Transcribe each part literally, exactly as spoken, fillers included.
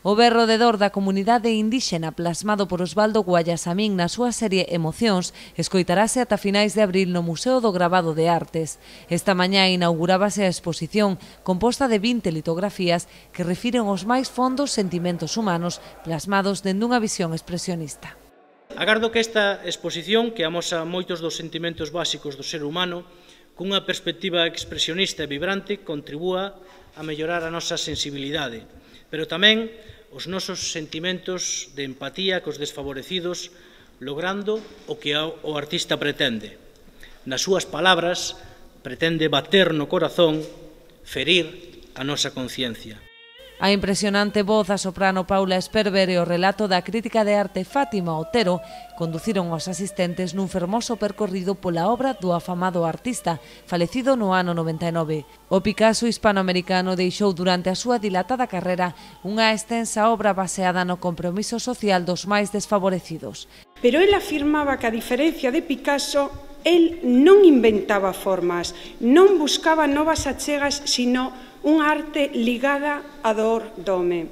O berro de dor da comunidade indíxena plasmado por Osvaldo Guayasamín na súa serie Emocións escoitarase ata finais de abril no Museo do Gravado de Artes. Esta mañá inaugurábase a exposición composta de vinte litografías que refiren os máis fondos sentimentos humanos plasmados dende unha visión expresionista. Agardo que esta exposición, que amosa moitos dos sentimentos básicos do ser humano, cunha perspectiva expresionista e vibrante, contribúa a mellorar a nosa sensibilidade, pero tamén os nosos sentimentos de empatía cos desfavorecidos, logrando o que o artista pretende. Nas súas palabras, pretende bater no corazón, ferir a nosa conciencia. A impresionante voz a soprano Paula Esperber e o relato da crítica de arte Fátima Otero conduciron os asistentes nun fermoso percorrido pola obra do afamado artista, falecido no ano noventa e nove. O Picasso hispanoamericano deixou durante a súa dilatada carreira unha extensa obra baseada no compromiso social dos máis desfavorecidos. Pero el afirmaba que, a diferencia de Picasso, el non inventaba formas, non buscaba novas achegas, sino unha arte ligada á dor do home.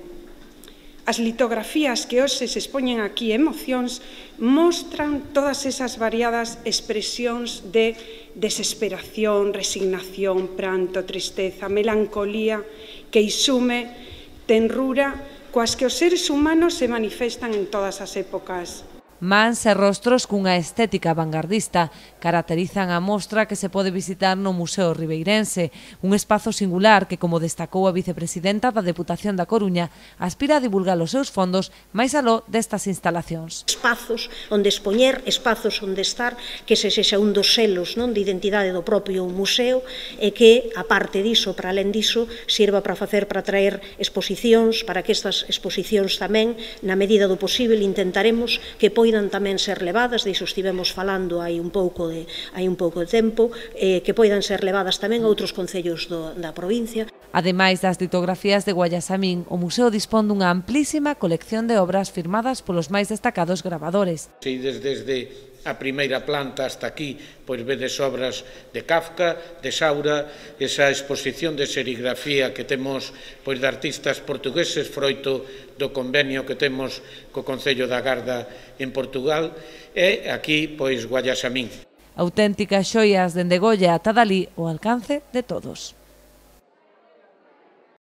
As litografías que hoxe se expoñen aquí, Emocións, mostran todas esas variadas expresións de desesperación, resignación, pranto, tristeza, melancolía, queixume, tenrura, coas que os seres humanos se manifestan en todas as épocas. Mans e rostros cunha estética vanguardista caracterizan a mostra que se pode visitar no Museo Ribeirense, un espazo singular que, como destacou a vicepresidenta da Deputación da Coruña, aspira a divulgar os seus fondos máis aló destas instalacións. Espazos onde expoñer, espazos onde estar, que se sexa un dos selos non de identidade do propio museo e que, a parte diso, para alén diso, sirva para facer, para traer exposicións, para que estas exposicións tamén, na medida do posible, intentaremos que poidan tamén ser levadas, diso estivemos falando hai un pouco de, hai un pouco de tempo, eh, que poidan ser levadas tamén a outros concellos do, da provincia. Ademais das litografías de Guayasamín, o museo dispón dunha amplísima colección de obras firmadas polos máis destacados gravadores. Si desde a primeira planta hasta aquí, pois vedes obras de Kafka, de Saura, esa exposición de serigrafía que temos pois de artistas portugueses, froito do convenio que temos co Concello da Garda en Portugal, e aquí pois Guayasamín. Auténticas xoias dende Goya ata Dalí ao alcance de todos.